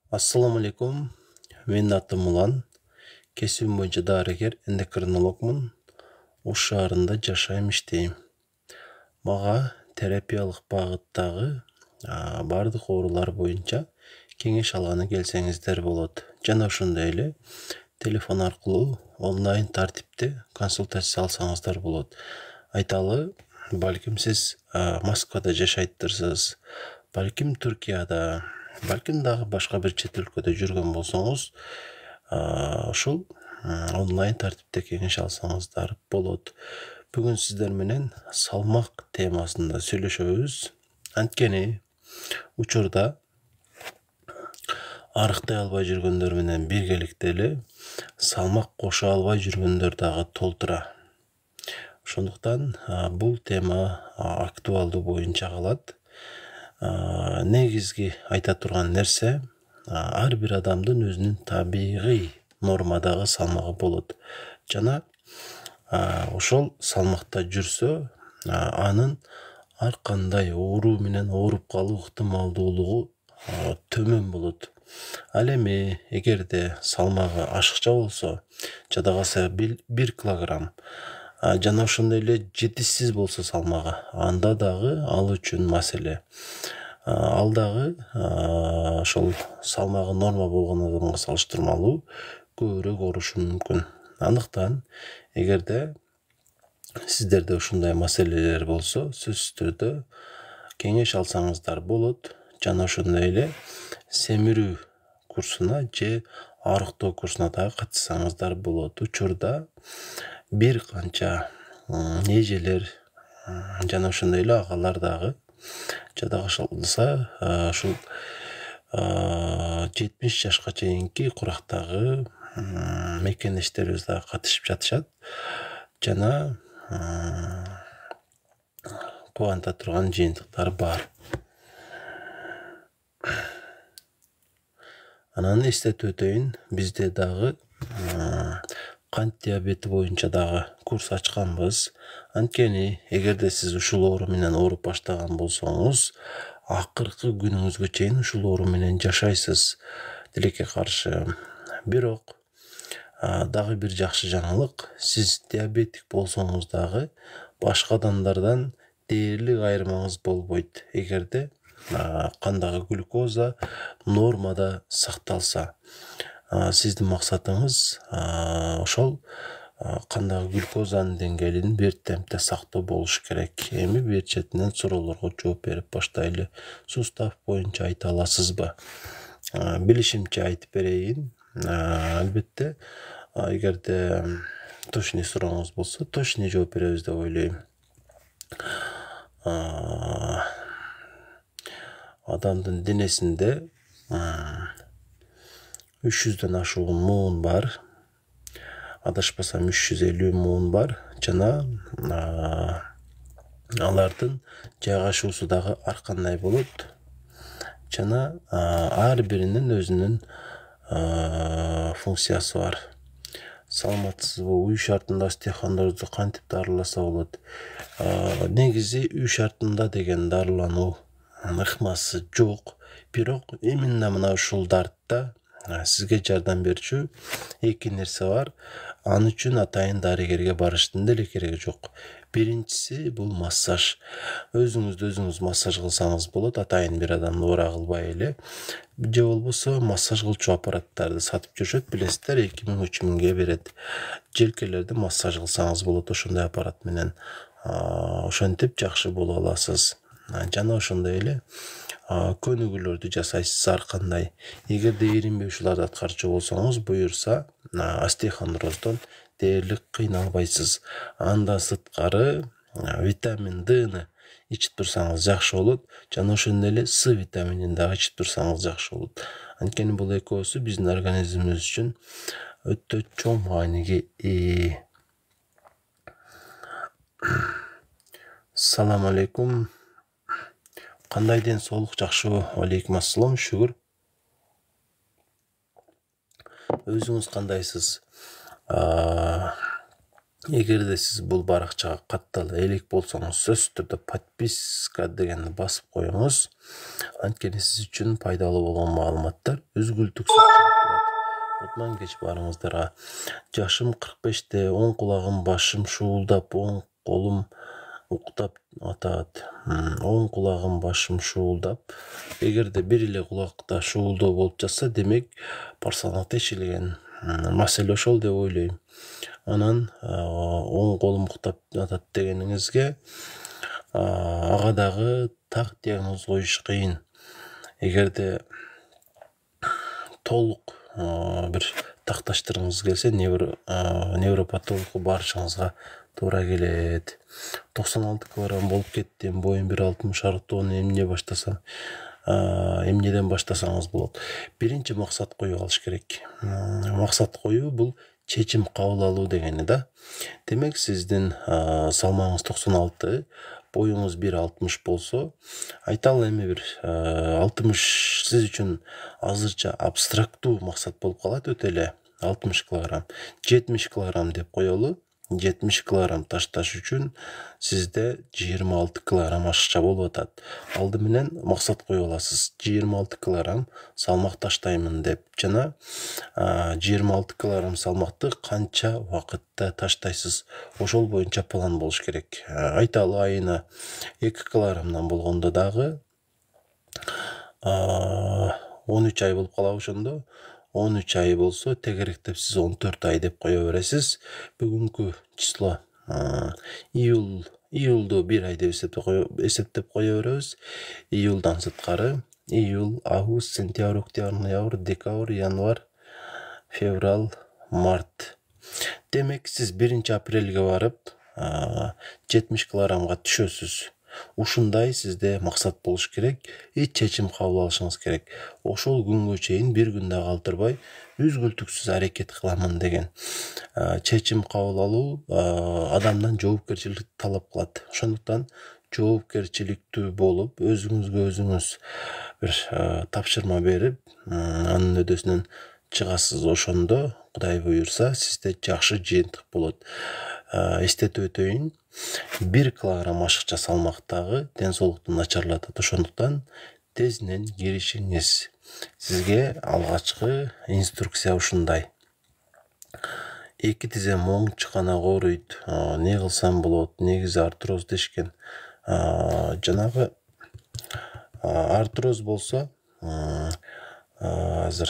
Assalamu alaikum. Менин атым Улан. Кесибим боюнча дарыгер, эндокринологмун. Ош шаарында жашайм, иштейм. Мага терапиялык багыттагы бардык оорулар боюнча кеңеш алганы келсеңиздер болот. Жана ошондой эле телефон аркылуу онлайн тартипте консультация алсаңыздар болот. Айталы, балким сиз Москвада жашайттырсыз, балким Түркияда, балким дагы башка бир чет өлкөдө жүргөн болсоңуз, ушул онлайн тартипте кеңеш алсаңыздар болот. Бүгүн сиздер менен салмак темасында сүйлөшөбүз. Анткени учурда арыктай албай жүргөндөр менен биргеликте эле салмак кошо албай жүргөндөр дагы толтура. Ошондуктан бул тема актуалдуу боюнча калат. Негизги айта турган нерсе, ар бир адамдын өзүнүн табигый нормадагы салмагы болот. Жана ошол салмакта жүрсө, анын ар кандай оору менен ооруп калуу ыктымалдуулугу төмөн болот. Ал эми эгерде салмагы ашыкча болсо, жада калса 1 килограмм, жана ошондой эле жетишсиз болсо салмагы, анда дагы ал үчүн маселе. Ал дагы ошол салмагы норма болгон адамга салыштырмалуу көбүрөөк оорушу мүмкүн. Андыктан эгерде сиздерде ушундай маселелер болсо, сөзсүз түрдө кеңеш алсаңыздар болот. Жана ошондой эле семирүү курсуна же арыктоо курсуна дагы катышсаңыздар болот. Учурда бир канча эжелер жана ошондой эле агалар дагы жада калса ушул 70 жашка чейинки курактагы мекендештерибиз дагы катышып жатышат. Жана кубанта турган жыйынтыктар бар. Анан эстетип өтөйүн, бизде дагы кант диабети боюнча дагы курс ачканбыз. Анткени эгерде сиз ушул оору менен ооруп баштаган болсоңуз, акыркы күнүңүзгө чейин ушул оору менен жашайсыз. Тилекке каршы. Бирок дагы бир жакшы жаңылык, сиз диабетик болсоңуз дагы башка адамдардан дээрлик айырмаңыз болбойт. Эгерде кандагы глюкоза нормада сакталса, сиздин максатыңыз ошол кандагы глюкозанын деңгээлин бир темпте сактоо болуш керек. Эми бир четинен суроолорго жооп берип баштайлы. Сустав боюнча айта аласызбы? Билишимче айтып берейин. Албетте, эгерде точный сурооңуз болсо, точный жооп беребиз деп ойлойм. Адамдын денесинде 300дөн ашуун муун бар. Адашпасам 350 муун бар. Жана алардын жайгашуусу дагы ар кандай болот. Жана ар биринин өзүнүн функциясы бар. Саламатсызбы? Үй шартында остеохондрозду кантип дарыласа болот? Негизи үй шартында деген дарылануу ыкмасы жок. Бирок именно мына ушул дартта сизге жардам берчү эки нерсе бар. Ал үчүн атайын дарыгерге барыштын деле кереги жок. Биринчиси бул массаж. Өзүңүздү өзүңүз массаж кылсаңыз болот, атайын бир адамды ора кылбай эле. Же болбосо массаж кылчу аппараттарды сатып жүрүшөт, билесиздер, 2000-3000ге берет. Желкелерди массаж кылсаңыз болот ошондой аппарат менен. Ошентип жакшы боло аласыз. Жана ошондой эле көнүгүүлөрдү жасайсыз ар кандай. Эгерде эринбей ушуларды аткарчу болсоңуз, буюрса, остеохондроздон дээрлик кыйналбайсыз. Андан сырткары витамин Д'ны ичип турсаңыз жакшы болот. Жана ошондой эле С витаминин дагы ичип турсаңыз жакшы болот. Анткени бул экөөсү биздин организмибиз үчүн өтө чоң мааниге ээ. Салам алейкум. Кандай ден соолук, жакшыбы? Алейкум ассалам, шүгүр. Өзүңүз кандайсыз? Эгерде сиз бул баракчага каттала элек болсоңуз, сөзсүз түрдө подписка дегенди басып коюңуз. Анткени сиз үчүн пайдалуу болгон маалыматтар үзгүлтүксүз чыгып турат. Утман кеч баарыңыздарга. Жашым 45-те, оң кулагым башым шуулдап, оң колум уктап атат. Оң кулагым башым шуулдап. Эгерде бир эле кулакта шуулдоо болуп жатса, демек парсалаңа тешилген маселе ошол деп ойлойм. Анан оң колум уктап атат дегениңизге ага дагы так диагноз коюш кыйын. Эгерде толук бир такташтыргыңыз келсе, невропатологко барышыңызга туура келет. 96 килограмм болуп кеттим, боюм 1.60, артоону эмнеден баштасаңыз болот. Биринчи максат коюп алыш керек. Максат коюу бул чечим кабыл алуу дегени да. Демек сиздин салмагыңыз 96, боюңуз 1.60 болсо, айталы эми бир 60 сиз үчүн азырча абстрактуу максат болуп калат, өтө эле 60 килограмм, 70 килограмм деп коелу. 70 килограмм ташташ үчүн сизде 26 килограмм ашыкча болуп атат. Алды менен максат коюп аласыз. 26 килограмм салмак таштаймын деп жана 26 килограмм салмакты канча убакытта таштайсыз, ошол боюнча план болуш керек. Айталы айына 2 килограммдан болгондо дагы 13 ай болуп калабы ошондо. 13 ай болсо, тегеректеп сиз 14 ай деп кое бересиз. Бүгүнкү число июлду 1 ай деп эсептеп кое беребиз. Июлдан сырткары июль, август, сентябрь, октябрь, ноябрь, декабрь, январь, февраль, март. Демек сиз 1 апрелге барып 70 килограммга түшөсүз. Ушундай сизде максат болуш керек, чечим кабыл алышыңыз керек. Ошол күнгө чейин бир күн да калтырбай үзгүлтүксүз аракет кыламын деген чечим кабыл алуу адамдан жоопкерчилик талап кылат. Ошондуктан жоопкерчиликтүү болуп, өзүңүзгө өзүңүз бир тапшырма берип, анын өдөсүнөн чыгасыз. Ошондо Кудай буйрса, сизде жакшы жыйынтык болот. Эстетип өтөйүн, 1 килограмм ашыкча салмактагы ден соолукту начарлатат. Ошондуктан тезинен киришиңиз. Сизге алгачкы инструкция ушундай. 2 тизем оң чыканак ооруйт. Не кылсам болот? Негизи артроз дешкен. Жанагы артроз болсо, азыр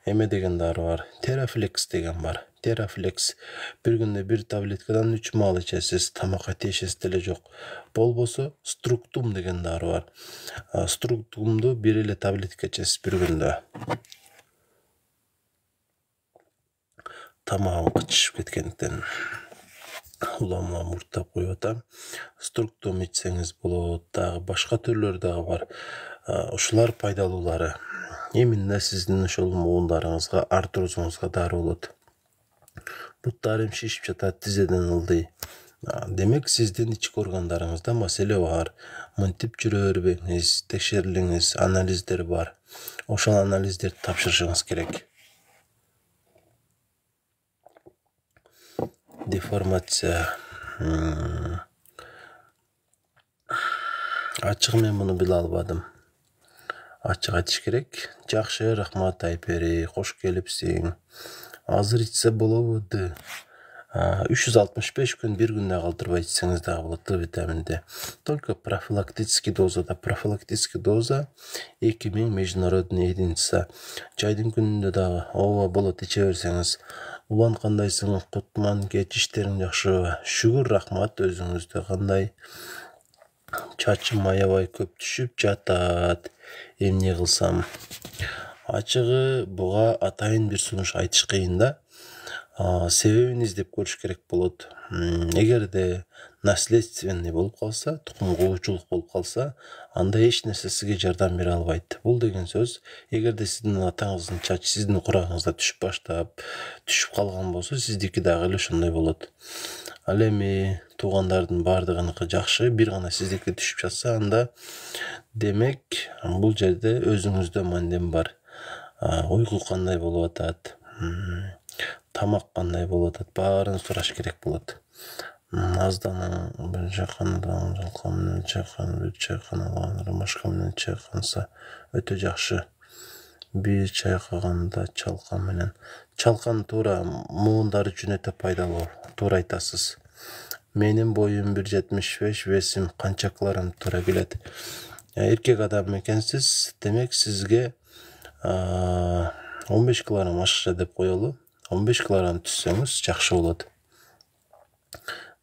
эме деген дары бар, Терафлекс деген бар. Терафлекс бир күндө 1 таблеткадан 3 маал ичесиз, тамакка тиешеси деле жок. Болбосо Структум деген дары бар. Структумду 1 эле таблетка ичесиз бир күндө. Тамагым кычышып кеткендиктен улам мурттап коюп атам. Структум ичсеңиз болот, дагы башка түрлөрү дагы бар. Ушулар пайдалуулары. Именно сиздин ошол муундарыңызга, артрозуңузга дары болот. Буттарым шишип жатат, тизеден ылдый. Демек сиздин ички органдарыңызда маселе бар. Мынтип жүрө бербеңиз, текшерилиңиз, анализдер бар. Ошол анализдерди тапшырышыңыз керек. Деформация. Ачык мен муну биле албадым. Ачык айтыш керек. Жакшы, рахмат Айпери, кош келипсиң. Азыр ичсе болобу? 365 күн бир күндө калтырбай ичсеңиз дагы болот витаминди. Только профилактический дозада. Профилактический доза 2000 международный единица. Жайдын күнүндө дагы ооба болот иче берсеңиз. Улан кандайсың? Кутман, кеч иштериң жакшыбы? Шүгүр, рахмат, өзүңүздө кандай? Чачым аябай көп түшүп жатат. Эмне кылсам? Ачыгы буга атайын бир сунуш айтыш кыйын да. Себебин издеп көрүш керек болот. Эгерде наследственный болуп калса, тукум куучулук болуп калса, анда эч нерсе сизге жардам бере албайт. Бул деген сөз, эгерде сиздин атаңыздын чачы сиздин курагыңызда түшүп калган болсо, сиздики дагы эле ошондой болот. Ал эми туугандардын баардыгыныкы жакшы, бир гана сиздики түшүп жатса, анда демек бул жерде өзүңүздө мандем бар. Уйку кандай болуп атат? тамак кандай болуп атат, баарын сураш керек болот. Аздан бир чайкандан жалкан менен чайкан, чайкан ромашка менен чайканса өтө жакшы. Бир чайкаганда чалкан менен. Чалкан туура муундар үчүн өтө пайдалуу. Туура айтасыз. Менин боюм 1,75, весим канча килограмм туура келет. Эркек адам экенсиз, демек сизге 15 килограмм ашыкча деп коелу. 15 килограмм түссөңүз жакшы болот.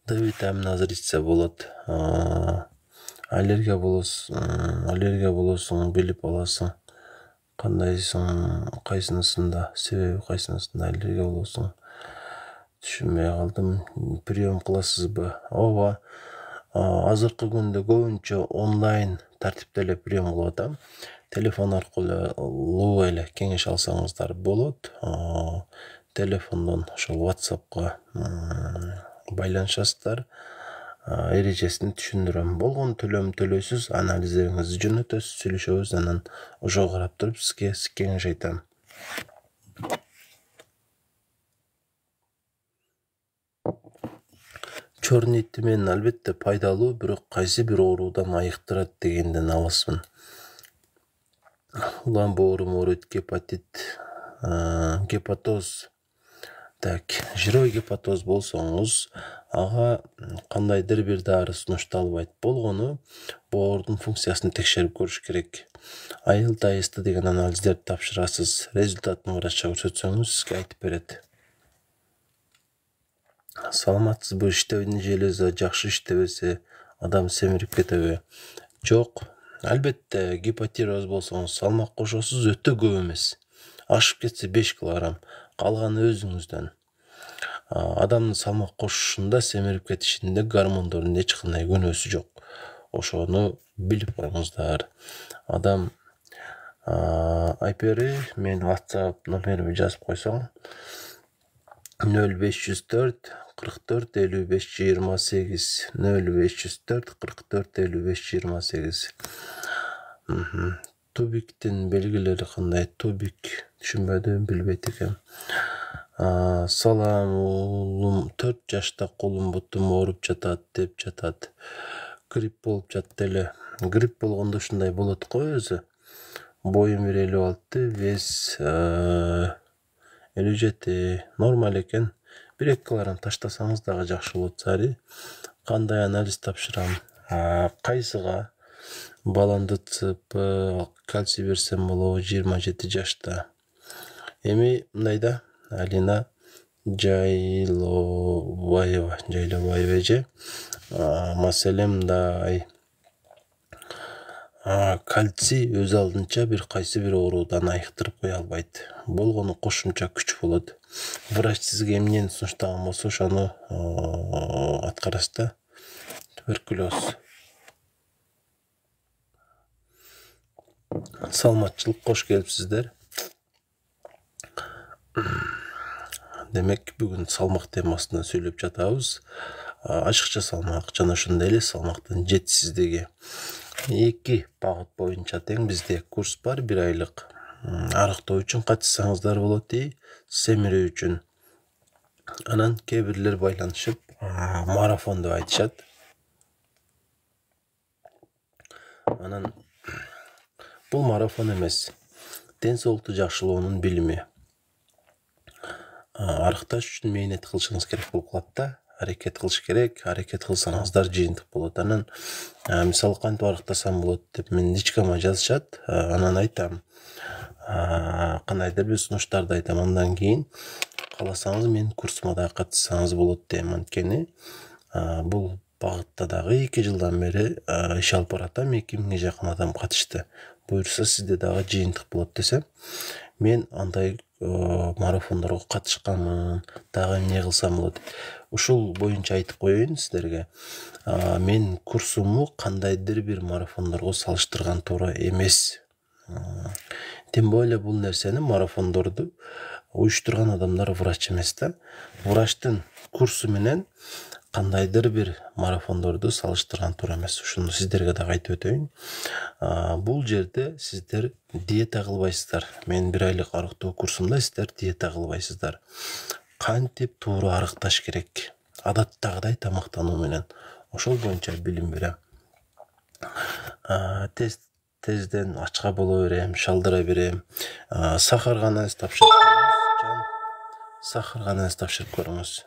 Д витамин азыр ичсе болот. Аллергия болосуң, билип аласың. Кандайсың, кайсынысында, себеби кайсынысында аллергия болосуң. Түшүнбөй калдым. Прием кыласызбы? Ооба. Азыркы күндө көбүнчө онлайн тартипте эле прием кылып атам. Телефон аркылуу эле кеңеш алсаңыздар болот. Телефондон ошол WhatsApp'ка байланышасыздар. Эрежесин түшүндүрөм. Болгон төлөм төлөйсүз, анализдериңизди жөнөтөсүз, сүйлөшөбүз, анан ошого карап туруп сизге кеңеш айтам. Чорный тимен албетте пайдалуу, бирок кайсы бир оорудан айыктырат дегенден алысмын. Улам боору, гепатит, гепатоз. Так, жирой гепатоз болсоңуз, ага кандайдыр бир дары сунушталбайт. Болгону боордун функциясын текшерип көрүш керек. Айыл-тайысты деген анализдерди тапшырасыз. Результатын врачка көрсөтсөңүз сизге айтып берет. Саламатсызбы? Иштебин желези жакшы иштебесе, адам семирип кетеби? Жок. Албетте гипотироз болсоңуз салмак кошосуз, өтө көп эмес. Ашып кетсе 5 килограмм, калганы өзүңүздөн. Адамдын салмак кошушунда, семирип кетишинде гормондордун эч кандай күнөөсү жок. Ошону билип коюңуздар. Адам айпери мен WhatsApp номерими жазып койсоң 0504 44 55 28 0504 44 55 28. Тубиктин белгилери кандай? Тубик түшүнбөдүм, билбейт экем. Салам уулум, 4 жашта колум бутум ооруп жатат деп жатат. Грипп болуп жатты эле. Грипп болгондо ушундай болот го өзү. Боюм 1,56, вес 57, нормаль экен. 1-2 килограмм таштасаңыз дагы жакшы болот сари. Кандай анализ тапшырам? Кайсыга? Баланды ЦП, кальций берсем болобу 27 жашта. Эми мындайда Алина Жайлобаева же. Маселе мындай. Кальций өз алдынча бир кайсы бир оорудан айыктырып кое албайт. Болгону кошумча күч болот. Врач сизге эмнени сунуштаган болсо ошону аткарасыз да. Туберкулез. Саламатчылык, кош келипсиздер. Демек бүгүн салмак темасында сүйлөп жатабыз. Ашыкча салмак жана ошондой эле салмактын жетишсиздиги. 2 багыт боюнча тең бизде курс бар, 1 айлык. Арыктоо үчүн катышсаңыздар болот, семирүү үчүн. Анан кээ бирлер байланышып, марафон деп айтышат. Анан бул марафон эмес. Ден соолукту жакшылоонун билими. Арыкташ үчүн мээнет кылышыңыз керек болуп калат да. Аракет кылыш керек. Аракет кылсаңыздар жыйынтык болот. Анан мисалы кантип арыктасам болот деп мен личкама жазышат. Анан айтам. Кандайдыр бир сунуштарды айтам. Андан кийин кааласаңыз менин курсума да катышсаңыз болот дейм. Анткени бул багытта дагы 2 жылдан бери иш алып баратам. 2000 жакын адам катышты. Буюрса сизде дагы жыйынтык болот десем, мен андай марафондорго катышканмын. Дагы эмне кылсам болот? Ушул боюнча айтып коеюн сиздерге. Мен курсуму кандайдыр бир марафондорго салыштырган туура эмес. Тем более бул нерсени марафондорду уюштурган адамдар врач эмес да. Врачтын курсу менен кандайдыр бир марафондорду салыштырган туура эмес. Ушуну сиздерге дагы айтып өтөйүн. Бул жерде сиздер диета кылбайсыздар. Мен 1 айлык арыктоо курсумда сиздер диета кылбайсыздар. кантип туура арыкташ керек, адаттагыдай тамактануу менен. Ошол боюнча билим берем. Тезден ачка боло берем, шалдыра берем. Сахарга анализ тапшырып көрүңүз. Сахарга анализ тапшырып көрүңүз.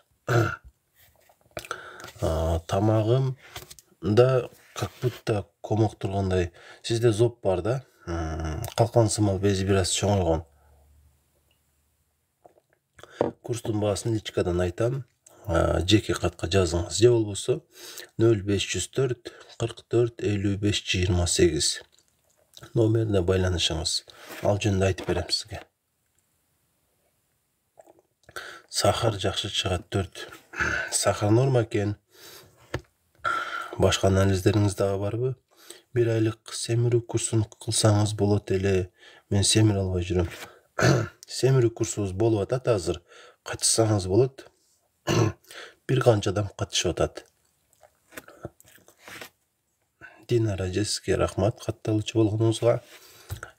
Тамагымда как будто комок тургандай. Сизде зоб бар да, калкан сымал бези бир аз чоңойгон. Курстун баасын личкадан айтам. Жеке катка жазыңыз. Же болбосо 0504 44 55 28 номерине байланышыңыз. Ал жөнүндө айтып берем сизге. Сахар жакшы чыгат 4. Сахар норма экен. Башка анализдериңиз дагы барбы? 1 айлык семирүү курсун кылсаңыз болот эле. Мен семире албай жүрөм. Семирүү курсубуз болуп атат азыр. Катышсаңыз болот. Бир канча адам катышып атат. Динара сизге рахмат катталуучу болгонуңузга.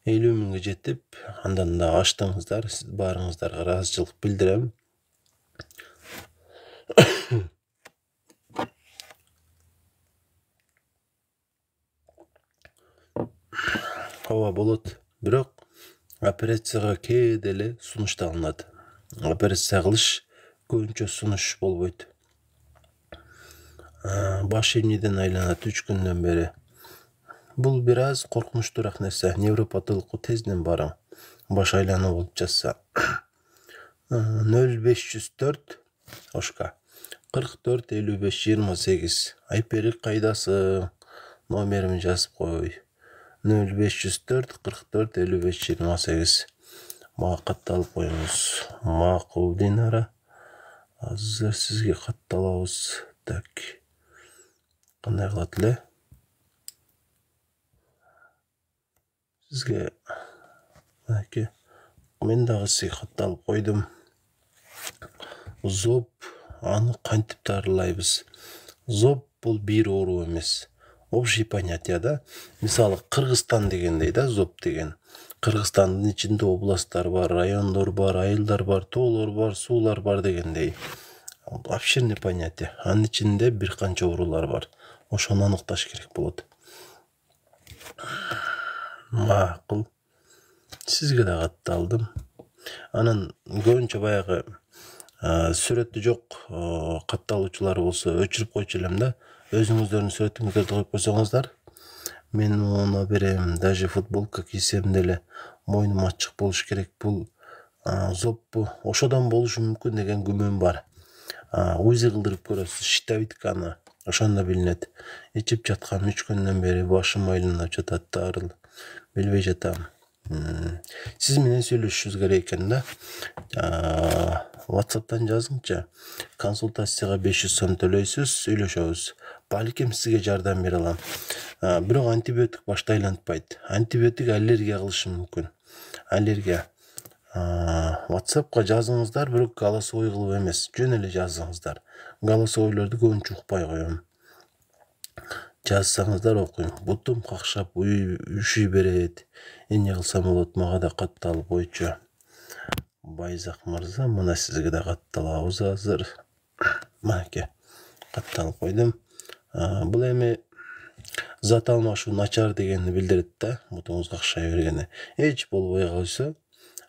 50 миңге жетип, андан да аштыңыздар. Сиз баарыңыздарга ыраазычылык билдирем. Ооба болот. Бирок операцияга кээде эле сунуш алынат. Операция кылыш көбүнчө сунуш болбойт. Баш эмнеден айланат 3 күндөн бери. Бул бир аз коркунучтуураак нерсе. Невропатологко тезден барың. Баш айлануу болуп жатса. 0504 ошка 44 55 28. Айперик кайдасы? Номерimi жазып кой. 0504 44 55 28. Мага катталып коюңуз. Макул Динара. Азыр сизге катталабыз. Так. Кандай кылат эле? Сизге мен дагы сизге катталып койдум. Зоб, аны кантип дарылайбыз? Зоб бул бир оору эмес. Общий понятие да. Мисалы Кыргызстан дегендей да, зоб деген. Кыргызстандын ичинде областтар бар, райондор бар, айылдар бар, тоолор бар, суулар бар дегендей. Обширный понятие. Анын ичинде бир канча оорулар бар. Ошону аныкташ керек болот. Макул. Сизге да катталдым. Анан көбүнчө баягы сүрөтү жок катталуучулар болсо өчүрүп койчу элем да. Өзүңүздөрдүн сүрөтүңүздөрдү коюп койсоңуздар, мен муну берем. Даже футболка кийсем деле мойнум ачык болуш керек. Бул зоббу ошодон болушу мүмкүн деген күмөн бар. УЗИ кылдырып көрөсүз, щитовидканы. Ошондо билинет. Ичип жаткан 3 күндөн бери башым айланып жатат, дарыл. Билбей жатам. Сиз менен сүйлөшүшүбүз керек экен да. WhatsApp'тан жазыңчы. Консультацияга 500 сом төлөйсүз, сүйлөшөбүз. Балким сизге жардам бере алам. Бирок антибиотик башта айлантпайт. Антибиотик аллергия кылышы мүмкүн. Аллергия. WhatsApp'ка жазыңыздар, бирок голосовой кылып эмес, жөн эле жазыңыздар. Голосовойлорду көбүнчө укпай коем. Жазсаңыздар окуйм. Бутум какшап, үшүй берет. Эмне кылсам болот? Мага да катталып койчу. Байзак мырза, мына сизге да катталабыз азыр. Маке. Катталып койдум. Бул эми зат алмашуу начар дегенди билдирет да, бутуңуз какшай бергени. Эч болбой калса,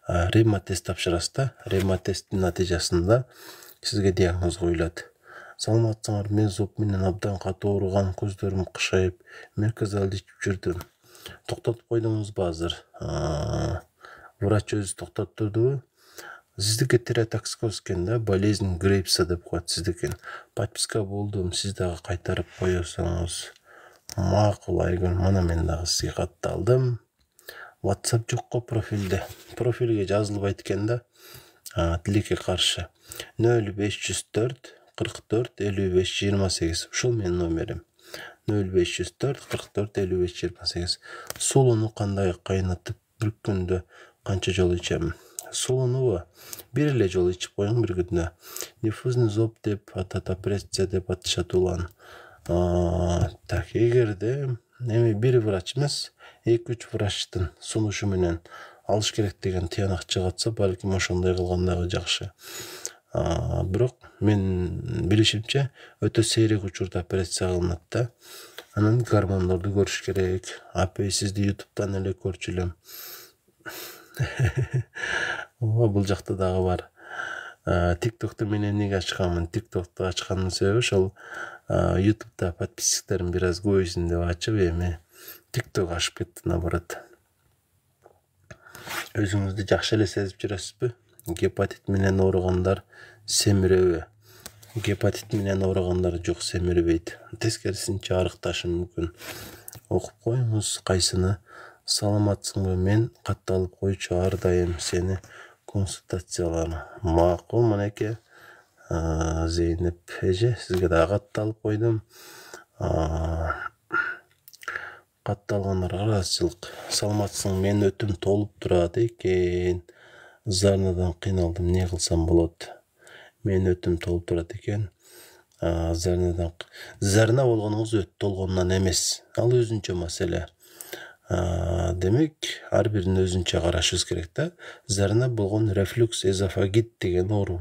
рема тест тапшырасыз да. Рема тесттин натыйжасында сизге диагноз коюлат. Саламатсыңар, мен зоб менен абдан катуу ооругам, көздөрүм кышайып, мерказалды ичип жүрдүм. Токтотуп койдуңузбу азыр? Врач өзү токтоттурдубу? Сиздики тиреотоксикоз экен да, болезнь Грейпса деп коет сиздикин. Подписка болдум, сиз дагы кайтарып коесоңуз. Макул Айгүл, мына мен дагы сизге катталдым. WhatsApp жокко профилде. Профилге жазылбайт экен да. Тилекке каршы. 0504 44 55 28. Ушул менин номерим. 0504 44 55 28. Сулууну кандай кайнатып бир күндө канча жолу ичем? Сулуунубу бир эле жолу ичип коюң бир күндө. Диффузный зоб деп атат, операция деп атышат улан. Так, эгерде эми бир врач эмес, 2-3 врачтын сунушу менен алыш керек деген тыянак чыгатса, балким ошондой кылган дагы жакшы. Бирок мен билишимче өтө сейрек учурда операция кылынат да. Анан гормондорду көрүш керек. Апей сизди YouTube'дан эле көрчү элем. Бул жакта дагы бар. TikTok'tu мен эмнеге ачканмын? TikTok'tu ачканымдын себеби ошол YouTube'да подписчиктерим бир аз көбөйсүн деп ачып, эми TikTok ашып кетти наоборот. Өзүңүздү жакшы эле сезип жүрөсүзбү? Гепатит менен ооругандар семиреби? Гепатит менен ооругандар жок, семирбейт. Тескерисинче арыкташы мүмкүн. Окуп коюңуз кайсыны. Саламатсыңбы? Мен катталып койчу, ар дайым сени консультацияларым. Макул мынеке. Зейнеп эже, сизге дагы катталып койдум. Катталгандарга ыраазычылык. Саламатсың, мен өтүм толуп турат экен. Зарнадан кыйналдым, эмне кылсам болот? Мен өтүм толуп турат экен. Зарна болгонуңуз өт толгонунан эмес. Ал өзүнчө маселе. Демек, ар бирин өзүнчө карашыбыз керек да. Зарна болгон рефлюкс эзофагит деген оору.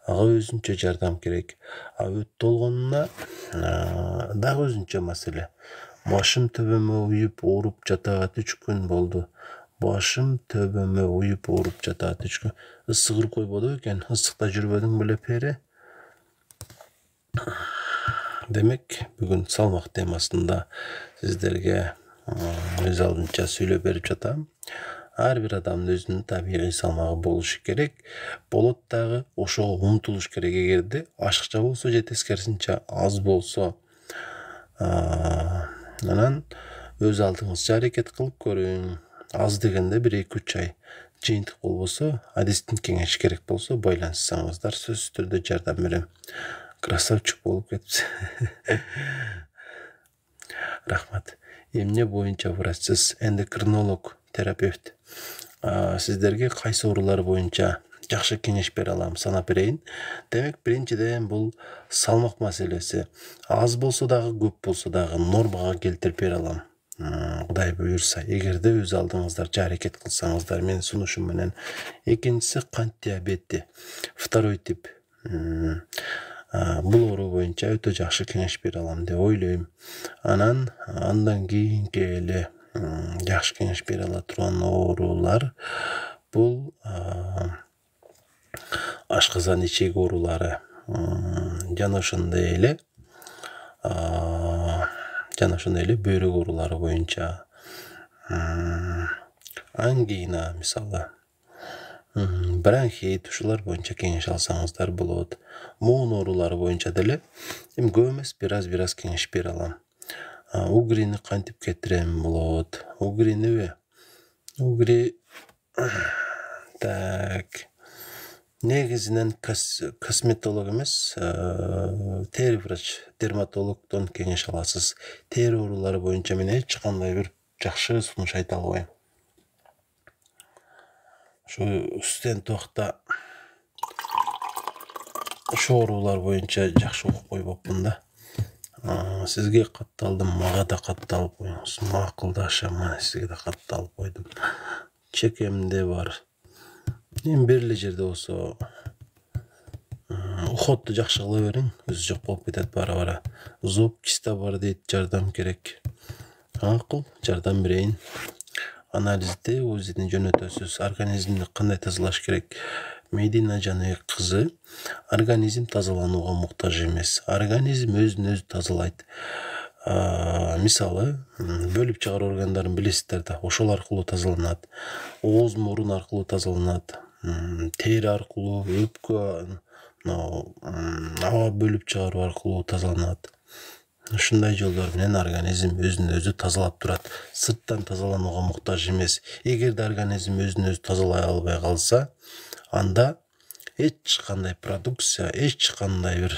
Ага өзүнчө жардам керек. Өт толгонуна дагы өзүнчө маселе. Башым төбөмө уюп ооруп жатат 3 күн болду. Башым төбөмө уюп ооруп жатат 3 күн. Ысыгыр койбоду экен. Ысыкта жүрбөдүң беле пери? Демек, бүгүн салмак темасында сиздерге өз алдынча сүйлөп берип жатам. Ар бир адамдын өзүнүн табигый салмагы болушу керек. Болот дагы ошого умтулуш керек. Эгерде ашыкча болсо же тескерисинче аз болсо, анан өз алдыңызча аракет кылып көрүң. Аз дегенде 1-2-3 ай. Жыйынтык болбосо, адистин кеңеши керек болсо байланышсаңыздар, сөзсүз түрдө жардам берем. Красавчик болуп кетипсиз. Рахмат. Эмне боюнча врачсыз? Эндокринолог, терапевт. Сиздерге кайсы оорулар боюнча жакшы кеңеш бере алам, санап берейин. Демек, биринчиден бул салмак маселеси. Аз болсо дагы, көп болсо дагы нормага келтирип бере алам. Кудай буюрса, эгерде өз алдыңыздарча аракет кылсаңыздар, менин сунушум менен. Экинчиси кант диабети. Второй тип. Бул оору боюнча өтө жакшы кеңеш бере алам деп ойлойм. Андан кийинки эле жакшы кеңеш бере ала турган оорулар бул ашказан ичек оорулары. Жана ошондой эле бөйрөк оорулары боюнча. Ангина мисалы. Бронхит, ушулар боюнча кеңеш алсаңыздар болот. Моон оорулары боюнча деле көп эмес, бир аз кеңеш бере алам. Угрини кантип кетирем болот? Угриниби? Угри так. Негизинен косметолог эмес, тери врач, дерматологдон кеңеш аласыз. Тери оорулары боюнча мен эч кандай бир жакшы сунуш айта албайм. Ошо студент убакта ошо оорулар боюнча жакшы окуп койбопмун да. Сизге катталдым, мага да катталып коюңуз. Макулдашам, мына сизге да катталып койдум. Чекемде бар. Эми бир эле жерде болсо уходду жакшы кыла бериң, өзү жок болуп кетет бара-бара. Зоб киста бар дейт, жардам керек. Макул, жардам берейин. Анализди, УЗИден жөнөтөсүз. Организмди кандай тазалаш керек? Медина Жаныбек кызы, организм тазаланууга муктаж эмес. Организм өзүн өзү тазалайт. Мисалы, бөлүп чыгаруу органдарын билесиздер да, ошол аркылуу тазаланат. Ооз, мурун аркылуу тазаланат. Тери аркылуу, өпкө, аба бөлүп чыгаруу аркылуу тазаланат. Ушундай жолдор менен организм өзүн өзү тазалап турат. Сырттан тазаланууга муктаж эмес. Эгерде организм өзүн өзү тазалай албай калса, анда эч кандай продукция, эч кандай бир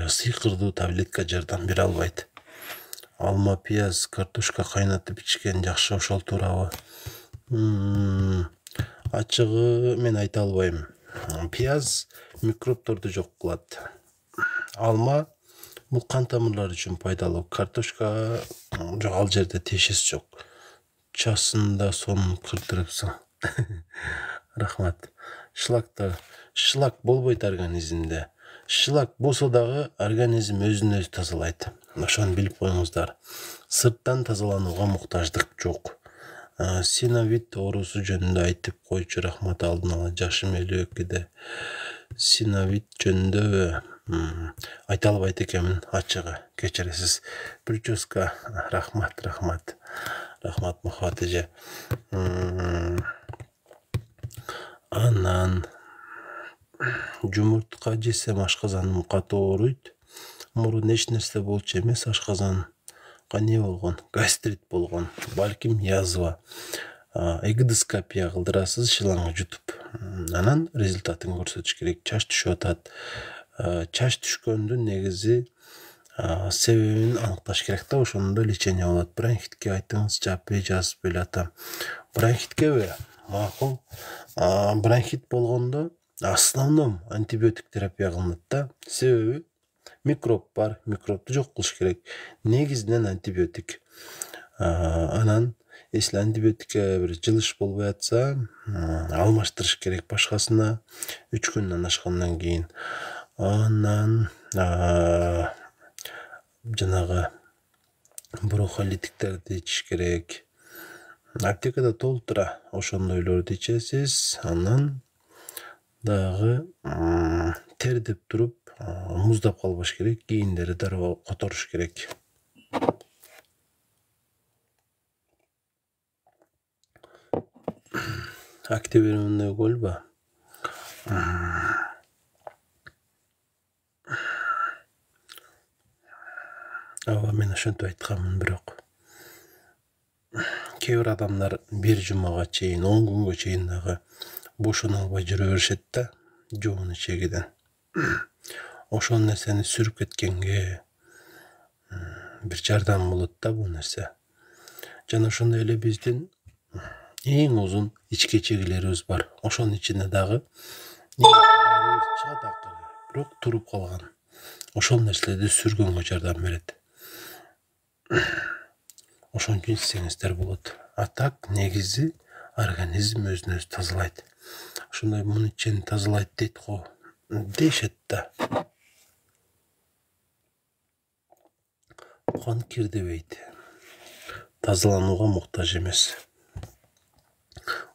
сыйкырдуу таблетка жардам бере албайт. Алма, пияз, картошка кайнатып ичкен жакшы, ошол туурабы? Ачыгы мен айта албайм. Пияз микробторду жок кылат. Алма бул кан тамырлар үчүн пайдалуу. Картошка жок, ал жерде тиешеси жок. Часында сонун кырдырыпсың. Рахмат. Шлак болбойт организмде. Шлак болсо дагы организм өзүн өзү тазалайт. Ошону билип коюңуздар. Сырттан тазаланууга муктаждык жок. Синовит оорусу жөнүндө айтып койчу. Рахмат, алдын ала жашым 52-де. Синовит жөнүндө айта албайт экенмин ачыгы. Кечиресиз. Прическа. Рахмат Махат эже. Анан жумуртка жесем ашказаным катуу ооруйт. Мурун эч нерсе болчу эмес, ашказанга не болгон? Гастрит болгон. Балким язва. Эгидоскопия кылдырасыз, шылаңы жутуп. Анан результатын көрсөтүш керек. Чач түшүп атат. Чач түшкөндүн негизи себебин аныкташ керек да, ошондо лечение болот. Бронхитке айтыңыз, жаппай жазып эле атам. Бронхиткеби? Макул. Бронхит болгондо основном антибиотик терапия кылынат да. Себеби микроб бар, микробду жок кылыш керек. Негизинен антибиотик. Анан если антибиотикке бир жылыш болбой атса, алмаштырыш керек башкасына 3 күндөн ашкандан кийин. Анан жанагы брохолитиктерди ичиш керек. Аптекада толтура ошондойлорду ичесиз. Анан дагы тердеп туруп муздап калбаш керек, кийиндери дароо которуш керек. Активированный кольба. Мен ошентип айтканмын, бирок кээ бир адамдар 1 жумага чейин, 10 күнгө чейин дагы бошоно албай жүрө беришет да, жоон ичегиден. Ошол нерсени сүрүп кеткенге бир жардам болот да бул нерсе. Жана ошондой эле биздин эң узун ички чегилерибиз бар. Ошонун ичинде дагы чыгат акыры, бирок туруп калган. Ошол нерселерди сүргөнгө жардам берет. Ошон үчүн ичсеңиздер болот. А так негизи организм өзүн өзү тазалайт. Ошондой муну ичени тазалайт дейт го, дешет да. Кан кирдебейт. Тазаланууга муктаж эмес.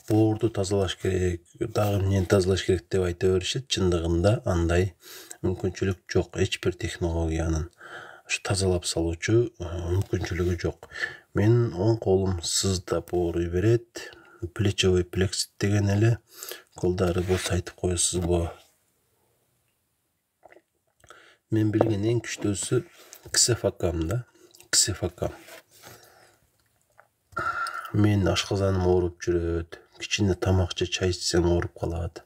Боорду тазалаш керек, дагы эмнени тазалаш керек деп айта беришет. Чындыгында андай мүмкүнчүлүк жок. Эч бир технологиянын тазалап салуучу мүмкүнчүлүгү жок. Менин оң колум сыздап ооруй берет. Плечевой плексит деген эле. Колдары болсо айтып коесузбу? Мен билген эң күчтүүсү ксефакам да. Ксефакам. Мен ашказаным ооруп жүрөт. Кичине тамак же чай ичсем ооруп калат.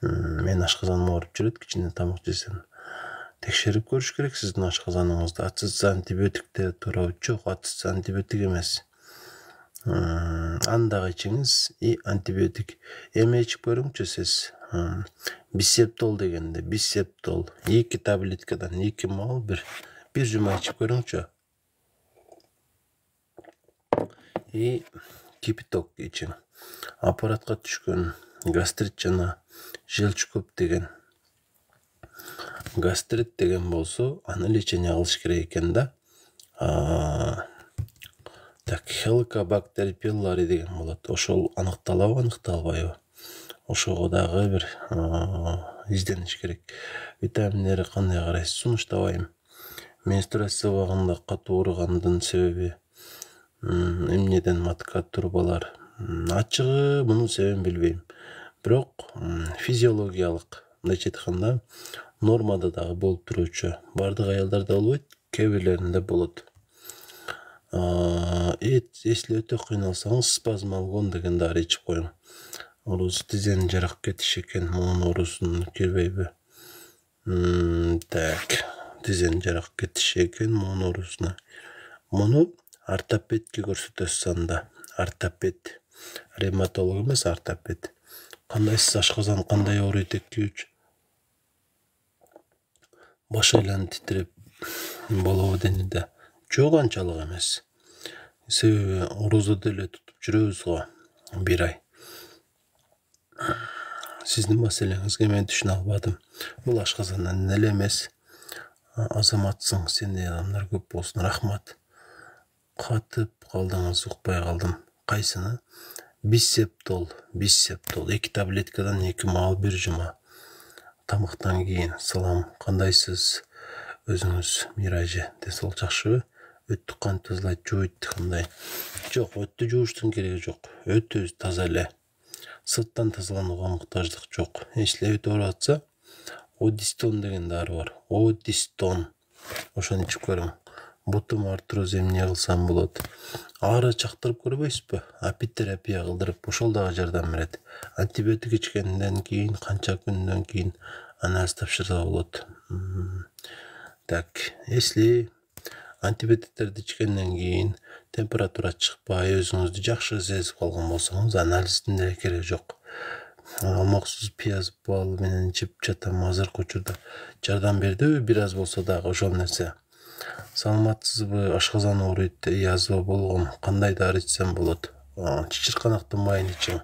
Мен ашказаным ооруп жүрөт, кичине тамак жесем. Текшерип көрүш керек сиздин ашказаныңызды. Атсыз антибиотиктер туурабы? Жок, атсыз антибиотик эмес. Андагы ичиңиз и антибиотик. Эме ичип көрүңчү сиз. Бисептол дегенде, бисептол 2 таблеткадан 2 мал бир жума ичип көрүңчү. И кипяток ичиң. Аппаратка түшкөн гастрит жана желчь көп деген. Гастрит деген болсо, аны лечение кылыш керек экен да. Так, Helicobacter pylori деген болот. Ошол аныкталабы, аныкталбайбы? Ошого дагы бир издениш керек. Витаминдери кандай карайсыз? Сунуштабайм. Менструация убагында катуу ооругандын себеби эмнеден матка турбалар? Ачыгы мунун себебин билбейм. Бирок физиологиялык, мындайча айтканда, нормада дагы болуп туруучу. Бардык аялдарда болбойт, кээ бирлеринде болот. Если өтө кыйналсаңыз, спазмалгон деген дары ичип коюң. Оорусу тизени жарак кетиш экен, мунун оорусун кирбейби? Так, тизени жарак кетиш экен, мунун оорусуна. Муну ортопедке көрсөтөсүз анда. Ортопед. Ревматолог эмес, ортопед. Кандай сиз ашказан кандай ооруйт 2-3? Баш айланып титиреп болобу денеде? Жок, анчалык эмес. Себеби орозодо эле тутуп жүрөбүз го 1 ай. Сиздин маселеңизге мен түшүнө албадым. Бул ашказандан эле эмес. Азаматсың, сендей адамдар көп болсун. Рахмат. Катып калдыңыз, укпай калдым. Кайсыны? Бисептол. 2 таблеткадан 2 маал 1 жума. Тамактан кийин. Салам, кандайсыз? Өзүңүз Мира эже, десол жакшыбы? Өттү кантип тазалайт, жууйт кандай? Жок, өттү жууштун кереги жок. Өтү таза эле. Сырттан тазаланууга муктаждык жок. Эчле өтүп атса, Одистон деген дары бар. Одистон. Ошону ичип көрүң. Бутум артроз эмне кылсам болот? Ары чактырып көрбөйсүзбү? Апитерапия кылдырып, ошол дагы жардам берет. Антибиотик ичкенден кийин, канча күндөн кийин анализ тапшырса болот. Так, если антибиотиктерди ичкенден кийин температура чыкпай, өзүңүздү жакшы сезип калган болсоңуз, анализдин деле кереги жок. Алмаксыз пияз бал менен ичип жатам. Азыркы учурда жардам бердиби? Бир аз болсо дагы ошол нерсе. Саламатсызбы? Ашказан ооруйт, язва болгон. Кандай дары ичсем болот? Чычырканактын майын ичиң.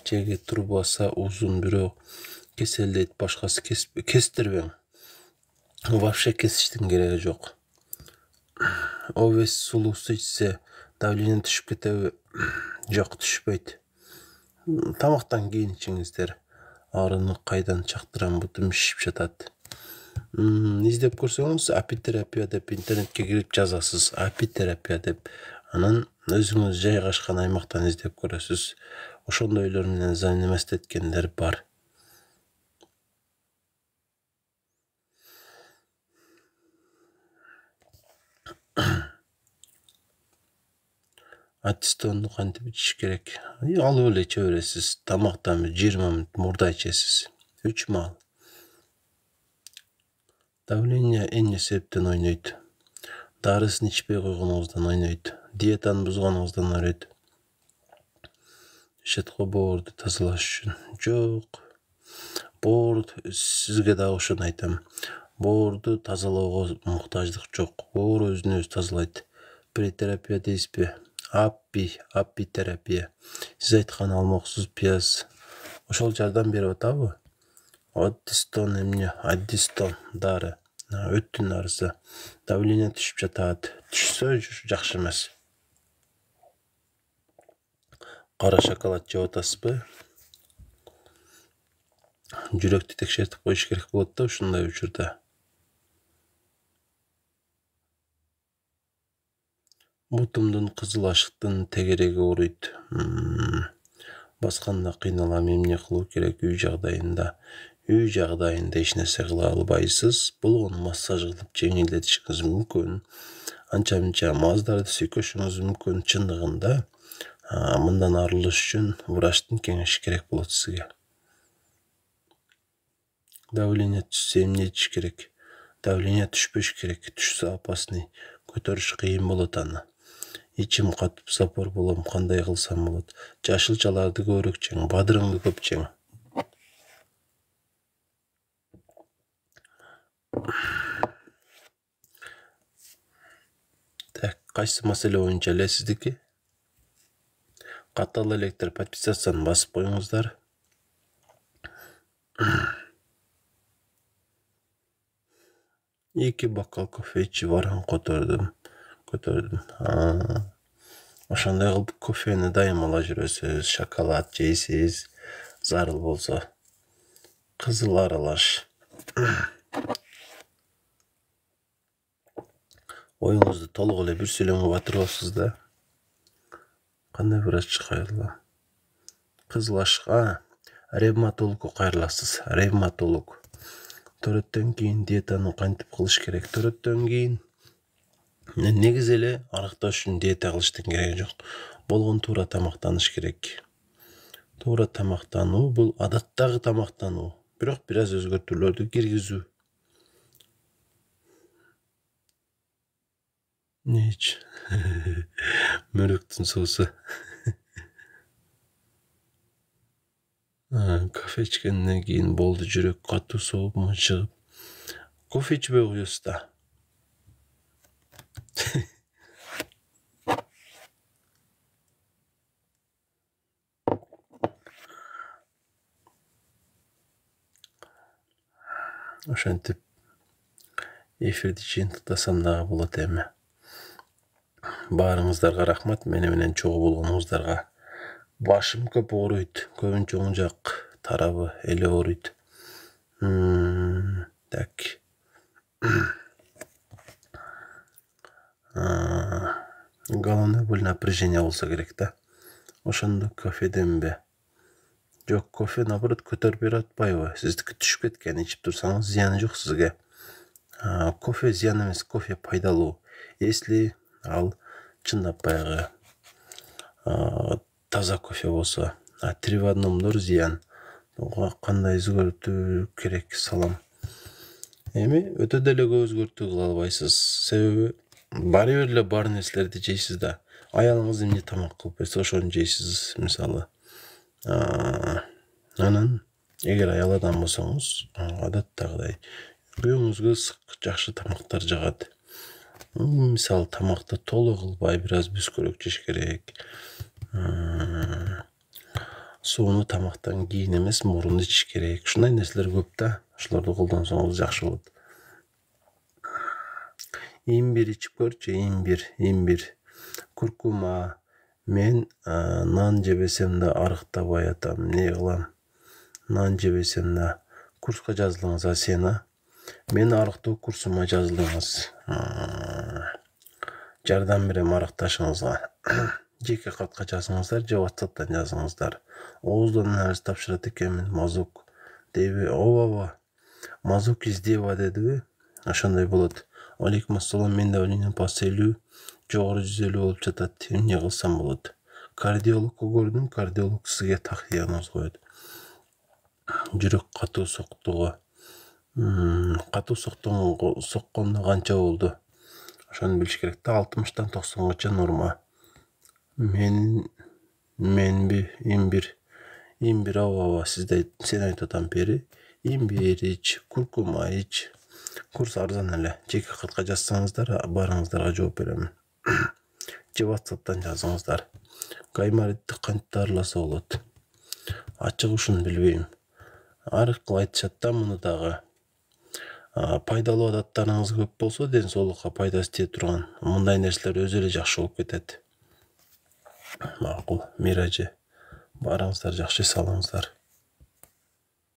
Чеги турбаса узун, бирок кеселдейт, башкасы кестирбең. Вообще кесиштин кереги жок. Овес сулуусу ичсе давление түшүп кетеби? Жок, түшпөйт. Тамактан кийин ичиңиздер. Арыны кайдан чактырам, бутум шишип жатат. Издеп көрсөңүз, апитерапия деп интернетке кирип жазасыз. Апитерапия деп. Анан өзүңүз жайгашкан аймактан издеп көрөсүз. Ошондойлор менен занемест эткендер бар. Аттистонду кантип ичиш керек? Алып эле иче бересиз. Тамактан 20 мүнөт мурда ичесиз. 3 маал. Давление эмне себептен ойнойт? Дарысын ичпей койгонуңуздан ойнойт. Диетаны бузганыңыздан ойнойт. Шетко боорду тазалаш үчүн. Жок. Боор сизге дагы ошону айтам. Боорду тазалоого муктаждык жок. Боор өзүн өзү тазалайт. Претерапия дейсизби? Апитерапия. Сиз айткан алмаксыз пияз. Ошол жардам берип атабы? Одистон эмне? Аддистон дары. Өттүн дарысы. Давление түшүп жатат. Түшсө жакшы эмес. Кара шоколад жеп атасызбы? Жүрөктү текшертип коюш керек болот да ушундай учурда. Бутумдун кызыл ашыктын тегереги ооруйт. Басканда кыйналам, эмне кылуу керек үй жагдайында? Үй жагдайында эч нерсе кыла албайсыз. Болгону массаж кылып жеңилдетишиңиз мүмкүн. Анча-мынча маздарды сүйкөшүңүз мүмкүн. Чындыгында мындан арылыш үчүн врачтын кеңеши керек болот сизге. Давление түшсө эмне ичиш керек? Давление түшпөш керек. Түшсө опасный. Көтөрүш кыйын болот аны. Ичим катып запор болом, кандай кылсам болот? Жашылчаларды көбүрөөк жең, бадырыңды көп жең. Так, кайсы маселе боюнча эле сиздики? Катал электр подписацияны басып коюңуздар. Эки бокал кофе ичип барам, көтөрдүм. Ошондой кылып кофени дайым ала жүрөсүз, шоколад жейсиз, зарыл болсо. Кызыл аралаш. Оюңузду толук эле бир сүйлөмгө батырбапсыз да. Кандай врачка кайрылам? Кызыл ашка ревматологко кайрыласыз. Ревматолог. Төрөттөн кийин диетаны кантип кылыш керек? Төрөттөн кийин негизи эле арыкташ үчүн диета кылыштын кереги жок. Болгон туура тамактаныш керек. Туура тамактануу бул адаттагы тамактануу, бирок бир аз өзгөртүүлөрдү киргизүү. Не ич? Мөрөктүн суусу. Кофе ичкенден кийин болду, жүрөк катуу соғуп мынчыгып. Кофе ичпей коесуз да. ошентип эфирди жыйынтыктасам дагы болот эми. Баарыңыздарга рахмат, мени менен чогуу болгонуңуздарга. Башым көп ооруйт, көбүнчө оң жак тарабы эле ооруйт. Так. Головной боль напряжение болсо керек да. Ошондо кофеденби? Жок, кофе наоборот көтөрүп берип атпайбы? Сиздики түшүп кеткен, ичип турсаңыз зыяны жок сизге. Кофе зыян эмес, кофе пайдалуу. Если ал чындап баягы таза кофе болсо, 3 в 1-дор зыян. Кандай өзгөртүү керек салам. Эми өтө деле көп өзгөртүү кыла албайсыз. Себеби баары бир эле бар нерселерди жейсиз да. Аялыңыз эмне тамак кылып берсе, ошону жейсиз, мисалы. Анан эгер аял адам болсоңуз, адаттагыдай күйөөңүзгө ысык, жакшы тамактар жагат. Мисалы, тамакты толук кылбай, бир аз бүскөрөк жеш керек. Сууну тамактан кийин эмес, мурун ичиш керек. Ушундай нерселер көп да. Ошолорду колдонсоңуз жакшы болот. Имбир ичип көрчү, имбир. Куркума. Мен нан жебесем да арыктабай атам. Не кылам? Нан жебесем да. Курска жазылыңыз, сен, Мен арыктоо курсума жазылыңыз. Жардам берем арыкташыңызга. Жеке катка жазыңыздар, же WhatsApp'тан жазыңыздар. Ооздон нерсе тапшырат экенмин, мазок дейби? Ооба. Мазок издеба дедиби? Ошондой болот. Алейкум ассалам, менде давление паселүү, жогору 150 болуп жатат. Эмне кылсам болот? Кардиологко көрдүм, кардиолог сизге так диагноз коет. Жүрөк катуу соктугу. Катуу соккондо канча болду? Ошону билиш керек да. 60-тан 90-гача норма. Менби имбир ооба, сен айтып атам бери. Имбир ич, куркума ич. Курс арзан эле. Жеке катка жазсаңыздар, баарыңыздарга жооп берем. Же WhatsApp'тан жазыңыздар. Гайморитти кантип дарыласа болот? Ачыгышын билбейм. Ар кыл айтышат да муну дагы. Пайдалуу адаттарыңыз көп болсо, ден соолукка пайдасы тие турган мындай нерселер өзү эле жакшы болуп кетет. Макул, Миражы. Баарыңыздар жакшы салыңыздар.